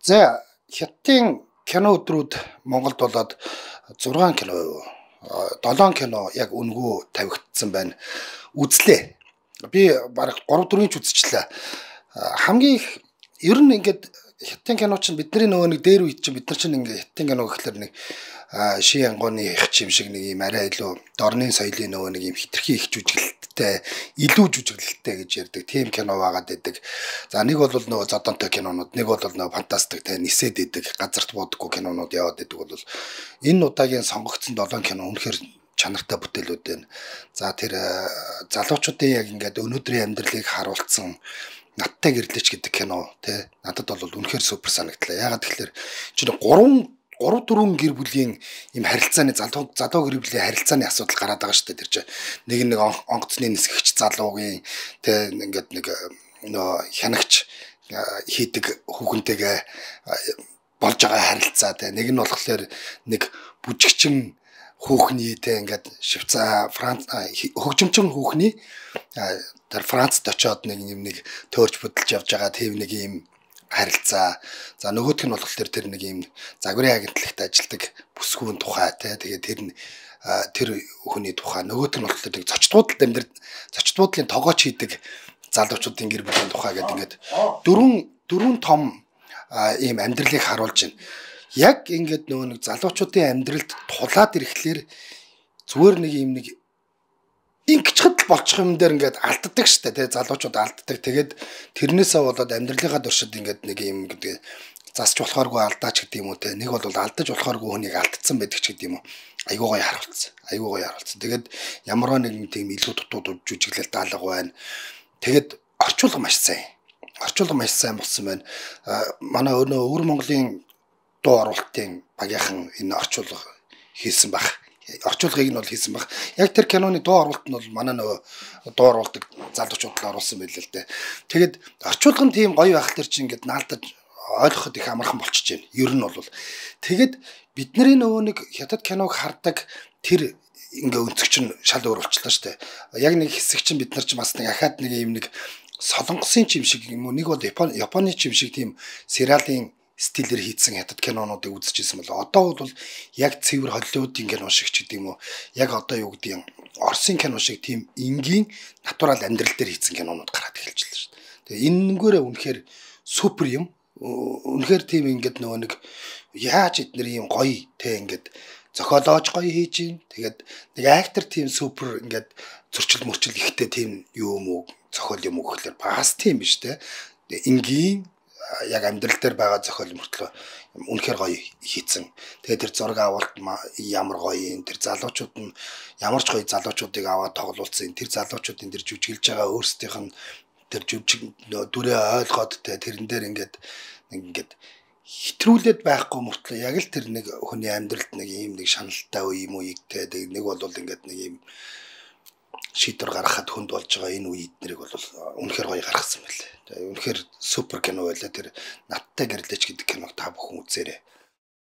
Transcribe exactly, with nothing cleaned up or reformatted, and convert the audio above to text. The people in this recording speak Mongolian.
За хятадын кино өдрүүд Монголд болоод зургаан кино, долоон кино яг үнгүү тавигдсан байна. Үзлээ. Би бараг гурав дөрвөн ч үзчихлээ. Хамгийн их ер нь ингээд хятадын кино чинь бидний нөгөө нэг дээр үед чинь бид нар чинь ингээд хятадын кино гэхэлэр нэг ши ангооны их чим шиг нэг юм арай илүү дорны соёлын нөгөө нэг юм хитрхи их жүжиглэлттэй, илүү жүжиглэлттэй гэж ярьдаг. Тим кино байгаад байдаг. За нэг бол нөгөө зодонтой кинонууд, нэг бол нөгөө фантастик тэ нисээд байдаг, газарт буудаггүй кинонууд яваад байдаг бол энэ удаагийн сонгогдсон долоон кино үнэхээр чанартай бүтээлүүд байна. За тэр залуучуудын яг ингээд өнөөдрийн амьдралыг харуулсан Надтай гэрлээч гэдэг кино тий надад бол үнэхээр супер санагдлаа. Ягаад тэгэхээр чинь гурван гурав дөрвөн гэр бүлийн юм харилцааны залуу залуу гэр бүлийн харилцааны асуудал гараад байгаа шүү дээ. Тэр чинь нэг нэг онгоцны нисгэгч залуугийн тий ингээд нэг нөө хянагч хийдэг хүүхэнтэйгээ болж байгаа харилцаа тий нэг нь болохоор нэг бүжигчин хүүхний тий ингээд Швейцар Франц хөгжимчин хүүхний тэр Францд очиод нэг юм нэг төөрч бүдэлж явж байгаа тийм нэг юм харилцаа. За нөгөөх нь болохоор тэр нэг юм загварын агентлагт ажилладаг бүсгүүн тухай тий тэгээд тэр нь тэр хүний тухай нөгөөх нь болохоор нэг зочдуудад амьдрал зочдуудлын тогооч хийдэг залуучуудын гэр бүлийн тухай гэдэг ингээд дөрвөн дөрвөн том ийм амьдралыг харуулж байна. Яг ингээд нөгөө нэг залуучуудын амьдралд тулаад ирэхлээр зүгээр нэг юм нэг ингэчхэд болчих юм дээр ингээд алддаг штэ тий залуучууд алддаг. Тэгээд тэрнээсээ болоод амьдралынхаа туршид ингээд нэг юм гэдэг засч болохооргүй алдаач гэдэг юм уу тий нэг бол алдаж болохооргүй хүнийг алдсан байдаг ч гэдэг юм уу. Айгуу гоё харуулсан. Айгуу гоё харуулсан. Тэгээд ямар нэгэн тийм илүү дутууд жүжиглэл даалга байна. Тэгээд орчуулга маш сайн. Орчуулга маш сайн болсон байна. Манай өнөө өвөр Монголын дуу оруулалтын багийнхан энэ орчуулга хийсэн баг. Орчуулгыг нь бол хийсэн баг. Яг тэр киноны дуу оруулалт нь бол манай нөгөө дуу оруулдаг залуучууд оруулсан байл л дээ. Тэгээд орчуулга нь тийм гоё байх төр чи ингээд наалдаж ойлгоход их амархан болчихж байна. Ер нь бол тэгээд бидний нөгөө нэг хятад киног хардаг тэр ингээ өнцөг чинь шал өөр болчихлоо шүү дээ. Яг нэг хэсэг чинь бид нар ч бас нэг ахаад нэг юм нэг солонгосын чим шиг юм уу нэг бол Японы Японы чим шиг тийм сериалын стилээр хийцэн хятад кинонуудыг үзчихсэн бол одоо бол яг цэвэр Холливуудын кино шиг ч гэдэг юм уу яг одоо юу гэдэг юм Оросын кино шиг тийм энгийн натурал амьдрал дээр хийцэн кинонууд гараад эхэлж байна шүү дээ. Тэгээ энэнгээрээ үнэхээр супер юм. Үнэхээр тийм ингээд нөгөө нэг яаж эднэр юм гоё те ингээд зохиолоож гоё хийж юм. Тэгээд нэг актер тийм супер ингээд зөрчил мөрчил ихтэй тийм юу юм уу зохиол юм уу гэхэлэр бас тийм биш те. Энгийн яг амьдрал дээр байгаа зохиол мөртлөө үнэхээр гоё хийцэн. Тэгээд тэр зураг авалт ямар гоё юм. Тэр залуучууд нь ямар ч гоё залуучуудыг аваад тоглуулсан. Тэр залуучуудын тэр жүжиглэж байгаа өөрсдийнх нь тэр жүжиг дүрээ ойлгоод тэрэн дээр ингээд ингээд хитрүүлээд байхгүй мөртлөө яг л тэр нэг хүний амьдралд нэг юм нэг шаналтай үе юм үеигтэй нэг бол ингээд нэг юм шийдвэр гаргахад хүнд болж байгаа энэ үед нэрийг бол үнэхээр гоё гаргасан байлээ. Тэгээ үнэхээр супер кино байлаа. Тэр Надтай гэрлээч гэдэг киног та бүхэн үзээрэй.